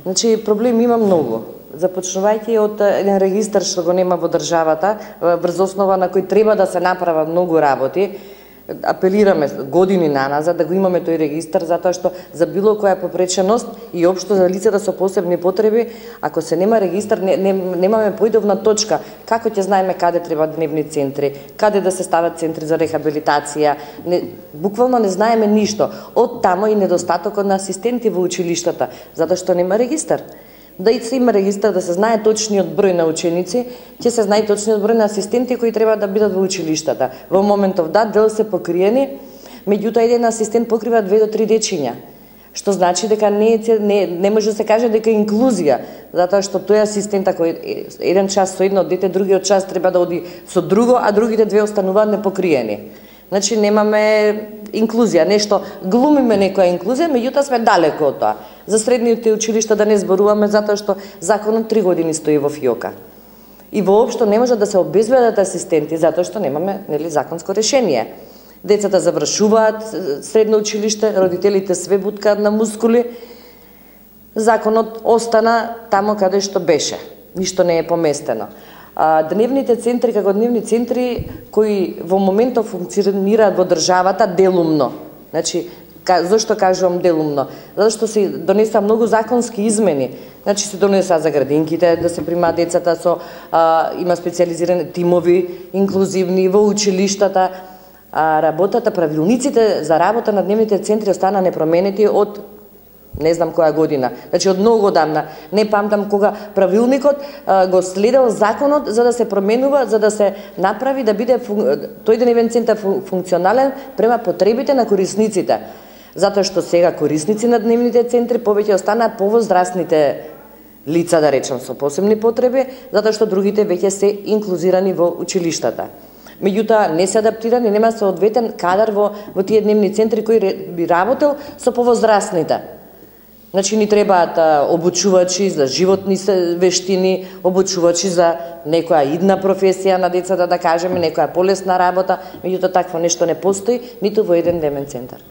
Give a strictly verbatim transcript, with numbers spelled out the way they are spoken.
Значи, проблем има многу. Започнувајќи од еден регистар што го нема во државата, врз основа на кој треба да се направат многу работи. Апелираме години наназад да го имаме тој регистар, затоа што за било која попреченост и општо за лицата со посебни потреби, ако се нема регистар, не, не, немаме поидовна точка. Како ќе знаеме каде треба дневни центри, каде да се стават центри за рехабилитација, не, буквално не знаеме ништо. Од тамо и недостатокот на асистенти во училиштата, затоа што нема регистар. Да и се има регистар, да се знае точниот број на ученици, ќе се знае точниот број на асистенти кои треба да бидат во училиштата. Во моментов да, дел се покриени, меѓутоа еден асистент покрива две до три дечиња, што значи дека не, не, не може да се каже дека е инклузија, затоа што тој асистент, ако еден час со едно дете, другиот час треба да оди со друго, а другите две остануваат непокриени. Значи немаме инклузија, нешто глумиме некоја инклузија, меѓутоа сме далеко од тоа. За средните училишта да не зборуваме, затоа што законот три години стои во фиока. И воопшто не може да се обезбедат асистенти, затоа што немаме, нели, законско решение. Децата завршуваат средно училиште, родителите све буткаат на мускули, законот остана тамо каде што беше. Ништо не е поместено. А, дневните центри како дневни центри кои во моментов функционираат во државата делумно. Значи, зошто кажувам делумно? Затоа што се донеса многу законски измени. Значи се донеса за градинките да се примаат децата со а, има специализирани тимови инклузивни во училиштата. А работата, правилниците за работа на дневните центри остана непроменети од не знам која година. Значи од многу одамна. Не памтам кога правилникот а, го следел законот за да се променува, за да се направи да биде фун... тој дневен центар функционален према потребите на корисниците. Затоа што сега корисници на дневните центри повеќе останаа повозрастните лица, да речам, со посебни потреби, затоа што другите веќе се инклузирани во училиштата. Меѓутоа не се адаптирани, нема соодветен кадар во, во тие дневни центри кои би работел со повозрастните. Значи ни требаат обучувачи за животни вештини, обучувачи за некоја идна професија на децата, да кажеме, некоја полесна работа, меѓутоа такво нешто не постои ниту во еден дневен центар.